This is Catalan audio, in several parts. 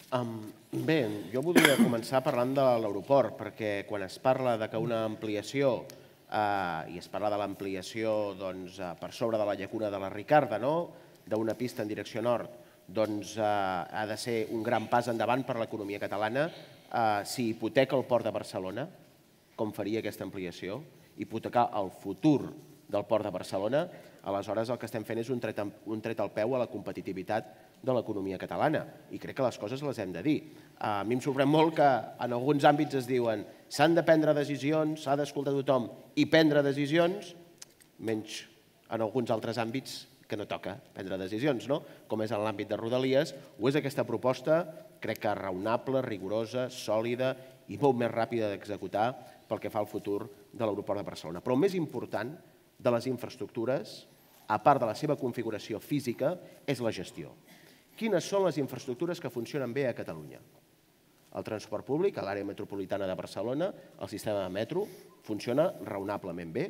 Bé, jo voldria començar parlant de l'aeroport, perquè quan es parla de que una ampliació, i es parla de l'ampliació per sobre de la llacuna de la Ricarda, d'una pista en direcció nord, ha de ser un gran pas endavant per a l'economia catalana. Si hipoteca el Port de Barcelona, com faria aquesta ampliació, hipotecar el futur del Port de Barcelona, aleshores el que estem fent és un tret al peu a la competitivitat de l'economia catalana. I crec que les coses les hem de dir. A mi em sorprèn molt que en alguns àmbits es diuen s'han de prendre decisions, s'ha d'escoltar tothom i prendre decisions, menys en alguns altres àmbits que no toca prendre decisions, com és en l'àmbit de Rodalies, o és aquesta proposta, crec que raonable, rigorosa, sòlida i molt més ràpida d'executar pel que fa al futur de l'aeroport de Barcelona. Però el més important de les infraestructures, a part de la seva configuració física, és la gestió. Quines són les infraestructures que funcionen bé a Catalunya? El transport públic a l'àrea metropolitana de Barcelona, el sistema de metro, funciona raonablement bé.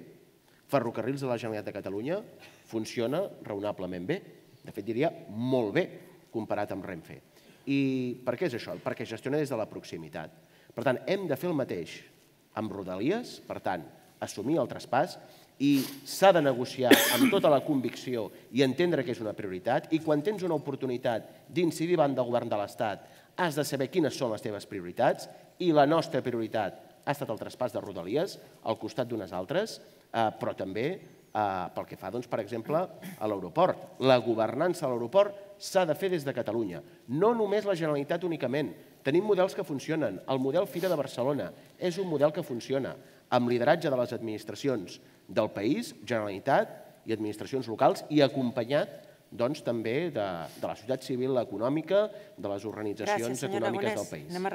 Ferrocarrils de la Generalitat de Catalunya funciona raonablement bé. De fet, diria molt bé, comparat amb Renfe. I per què és això? Perquè gestiona des de la proximitat. Per tant, hem de fer el mateix amb Rodalies, per tant, assumir el traspàs, i s'ha de negociar amb tota la convicció i entendre que és una prioritat, i quan tens una oportunitat d'incidir davant del govern de l'Estat has de saber quines són les teves prioritats, i la nostra prioritat ha estat el traspàs de Rodalies al costat d'unes altres, però també pel que fa, per exemple, a l'aeroport. La governança de l'aeroport s'ha de fer des de Catalunya, no només la Generalitat únicament. Tenim models que funcionen. El model Fira de Barcelona és un model que funciona, amb lideratge de les administracions del país, Generalitat i administracions locals, i acompanyat també de la societat civil econòmica, de les organitzacions econòmiques del país.